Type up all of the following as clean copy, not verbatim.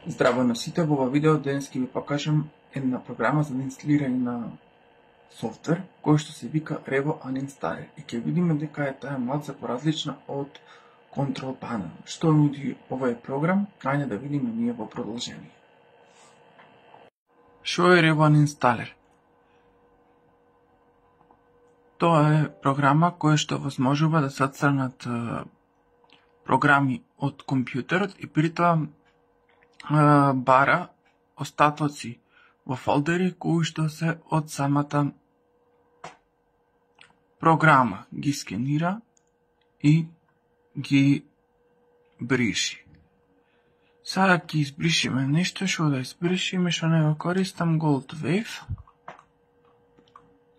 Здраво на сите, во ова видео денес ќе ви покажам една програма за инсталирање на софтвер кој што се вика Revo Uninstaller и ќе видиме дека е таа малце поразлична од Control Panel. Што нуди овој програм? Ајде да видиме ние во продолжение. Што е Revo Uninstaller? Тоа е програма која што возможува да се отстранат програми од компјутерот и при тоа бара остатоци во фолдери кои што се од самата програма, ги скенира и ги бриши. Сега ќе избришиме нешто, што да избришиме, што не го користам, Gold Wave.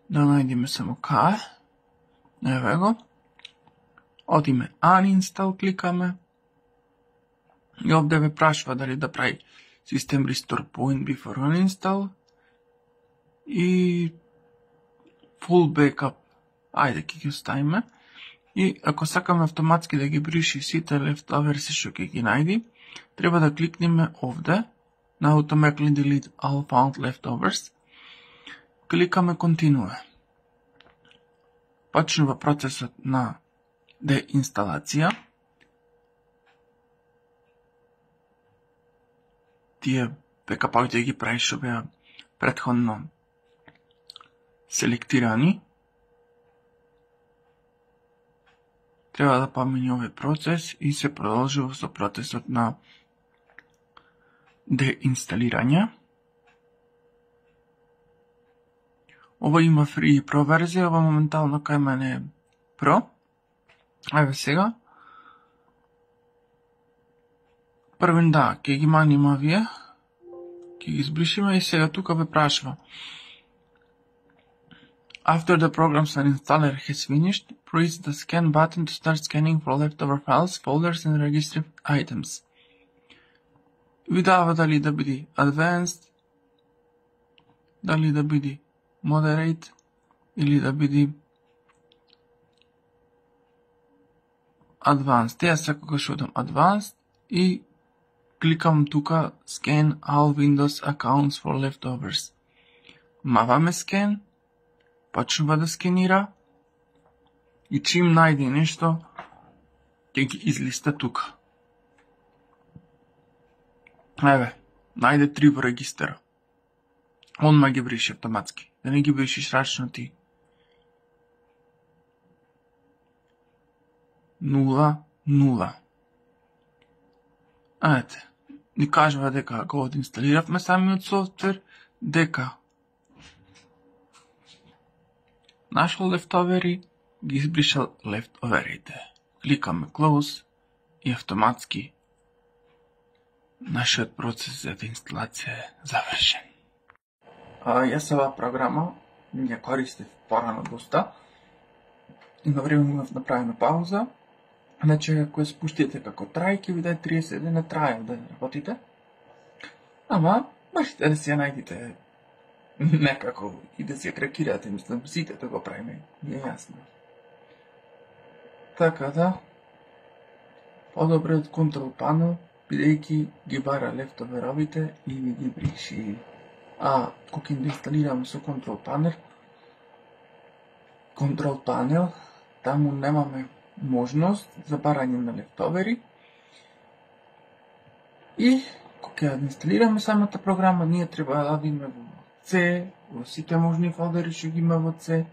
Да најдеме само кај. Еве го. Одиме Uninstall, кликаме. И овде ме прашува дали да прави System Restore Point Before Uninstall и Full Backup. Ајде, ќе ги оставиме. И ако сакаме автоматски да ги бриши сите leftovers што ќе ги најди, треба да кликнеме овде на Automatically Delete All Found Leftovers. Кликаме Continue. Почнува процесот на деинсталација. Тие бекапоите ги прави што беа претходно селектирани. Треба да помине овој процес и се продолжува со процесот на деинсталирање. Ова има free и pro верзија, ова моментално кај мене е pro. Еве сега. Првен ќе ги маниме овие, ќе ги избришиме и сега тука ве прашува. After the program's uninstaller has finished, press the scan button to start scanning for leftover files, folders and registered items. Ви дава дали да биде advanced, дали да биде moderate или да биде advanced. Јас секогаш одам advanced и кликам тука Scan all Windows accounts for leftovers. Маваме scan, почнува да скенира и чим најде нешто, ќе ги излиста тука. Еве, најде 3 во регистера. Онма ги бриши автоматски. Да не ги бришиш рачно ти. 0. Ете, ни кажува дека го одинсталиравме самиот софтвер, дека нашол лефтовери, ги избришал лефтоверите. Кликаме Close и автоматски нашиот процес за инсталација е завршен. Јас оваа програма ја користев порано доста. Има време имав направена пауза. Значи, ако ја спуштите како трај, ќе ви даде 30 дена трајал да работите. Ама, можете да си ја најдите некако и да си ја кракирате, мислам, сите да го правиме, ми е јасно. Така да, подобре од Control Panel, бидејќи ги бара лефтоверовите и ги бриши. Кога ќе инсталираме со Control Panel, таму немаме можност за барање на лефтовери и кога ќе инсталираме самата програма, ние треба да одиме во C, во сите можни фолдери што ги има во C,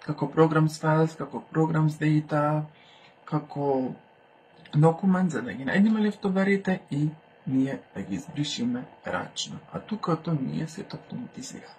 како Programs Files, како Programs Data, како Documents, за да ги најдеме лефтоверите и ние да ги избришиме рачно. А тука тоа ние се автоматизира.